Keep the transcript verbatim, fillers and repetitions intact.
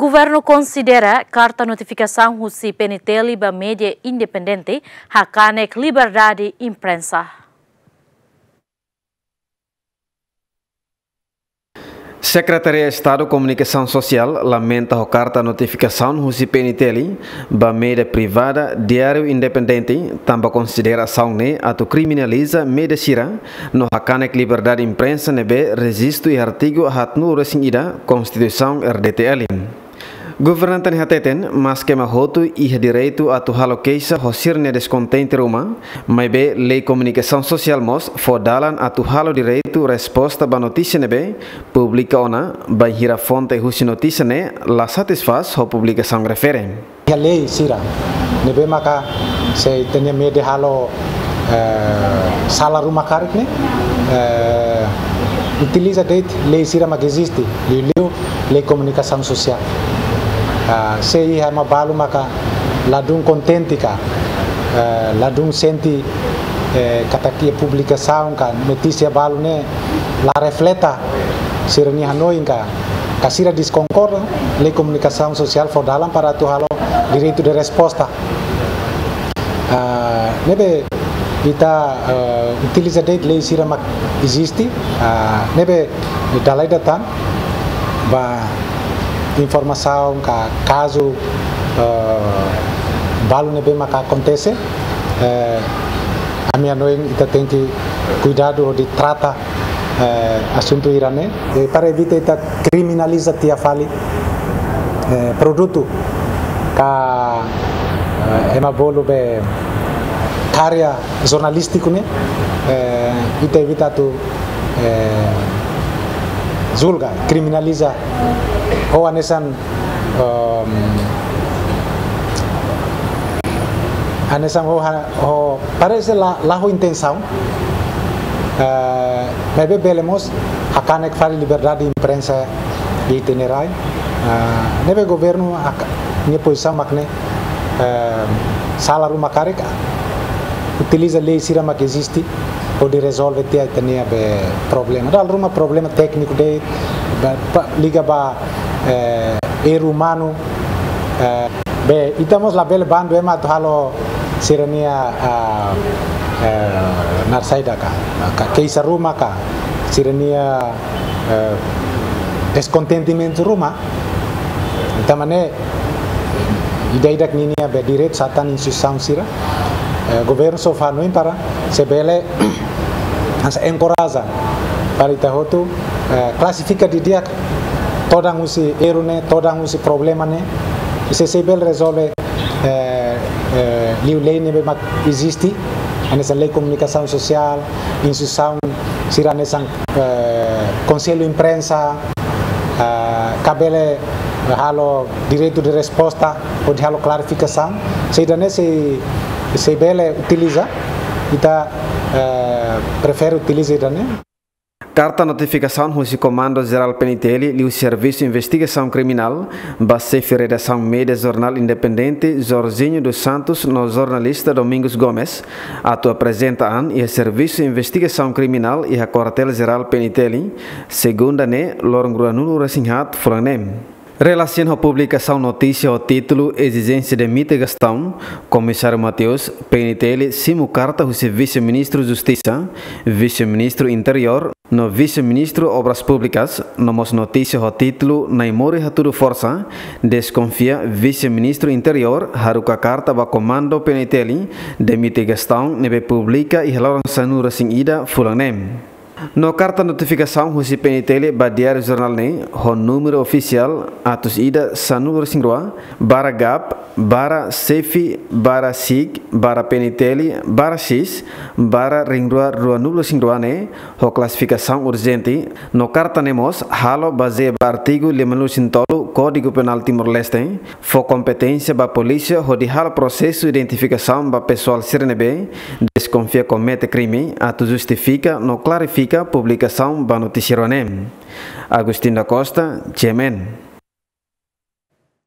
Governu konsidera karta notifikasaun husi P N T L ba média independente hakanek liberdade imprensa. Sekretaria Estadu Komunikasaun Sosiál lamenta ho karta notifikasaun husi P N T L ba média privada Diáriu Independente, tanba konsidera asaun ne'e atu kriminaliza média sira no hakanek liberdade imprensa ne'ebé rejistu iha artigu haatnulu-resin-ida Konstituisaun R D T L. Governante ne'e hateten, maske ema hotu iha direitu atu halo keixa ho sira-nia deskontente ruma, maibé Lei Komunikasaun Sosiál mós fó dalan atu halo direitu resposta ba notísia ne'ebé publika ona, bainhira fonte husi notísia ne'e la satisfás ho publikasaun refere. Iha lei sira ne'ebé maka se ita-nia média halo, eh, sala ruma karik ne'e, eh, utiliza de'it lei sira mak eziste, liuliu Lei Komunikasaun Sosiál. Ah, se iha ema balu maka ladún kontente ka, eh, ladún sente, eh, katak iha publikasaun ka notísia balu ne'e la refleta sira-nia hanoin ka, ka sira deskonkorda, Lei Komunikasaun Sosiál fó dalan para atu halo direitu de resposta. Ah, ne'ebé ita, eh, utiliza de'it lei sira mak eziste, ah, ne'ebé dala ida tan ba informasaun ka kazu, eh, balu ne'ebé maka akontese, eh, ami hanoin ita tenke kuidadu hodi trata, eh, asuntu hirak ne'e, eh, para evita ita kriminaliza tiha fali, eh, produtu ka, eh, ema bolu be karya jornalístiku ne'e, eh, ita evita atu, eh, julga, kriminaliza ho hanesan, ehm, hanesan ho ha-, ho parese la, la ho intensaun, eh, maibé bele mós hakanek fali liberdade imprensa iha ita-nia rai. Eh, ne'ebé governu hak-, nia pozisaun mak ne'e, eh, sala ruma karik, utiliza lei sira mak eziste hodi rezolve tiha ita-nia be problema. Dala ruma problema tékniku de'it, ba, ba, liga ba, eh, erru umanu, eh, be, ita mós labele bandu ema atu halo sira-nia, ah, eh, naran saida ka, ka keixa ruma ka, sira-nia, eh, deskontentimentu ruma. Tanba ne'e, ida-idak ninia be direitu sira tan, instituisaun sira, eh, governu só fó hanoin para se bele hanesan enkoraja para ita hotu, eh, klasifika didi'ak todan husi erru ne'e, todan husi problema ne'e. Se, se bele rezolve, eh, eh, liu lei ne'ebé mak eziste, hanesan Lei Komunikasaun Sosiál, instituisaun sira hanesan, eh, Konsellu Imprensa, eh, ka bele halo direitu de resposta, hodi halo klarifikasaun. Se ida-ne'e sei, sei bele utiliza, ita, eh, prefere utiliza ida-ne'e. Karta notifikasaun husi Komandu Jerál P N T L liu Servisu Investigasaun Kriminál ba xefe redasaun média Jornál Independente, Jorginho dos Santos, no jornalista Domingos Gomes, atu aprezenta an iha Servisu Investigasaun Kriminál iha Kuartél Jerál P N T L, segunda ne'e, loron ruanulu-resin-haat fulan ne'e. Relasiona ho publikasaun notísia ho títulu Ezijénsia Demite Gastão, Komisáriu Mateus, P N T L simu karta husi Vise-Ministru Justisa, Vise-Ministru Interiór, no Vise-Ministru Obras Públikas, no mós notísia ho títulu Naimori Hatudu Forsa, deskonfia Vise-Ministru Interiór haruka karta ba Komandu P N T L, demite Gastão, ne'ebé publika iha loron sanulu-resin-ida fulan ne'e. No karta notifikasaun husi P N T L ba Diáriu Jornál ne'e, ho númeru ofisiál atus ida sanulu-resin-rua, barra GAP, barra SEFI, barra SIG, barra P N T L, barra X, barra rihun rua ruanulu-resin-rua ne'e, ho klasifikasaun urjente, no karta ne'e mós halo bazeia ba artigu limanulu-resin-tolu Kódigu Penál Timor-Leste, fó kompeténsia ba polísia hodi halo prosesu identifikasaun ba pesoál sira ne'ebé deskonfia komete krime, atu justifika no klarifika publikasaun ba notísia rua ne'e. Agostinho da Costa, G M N.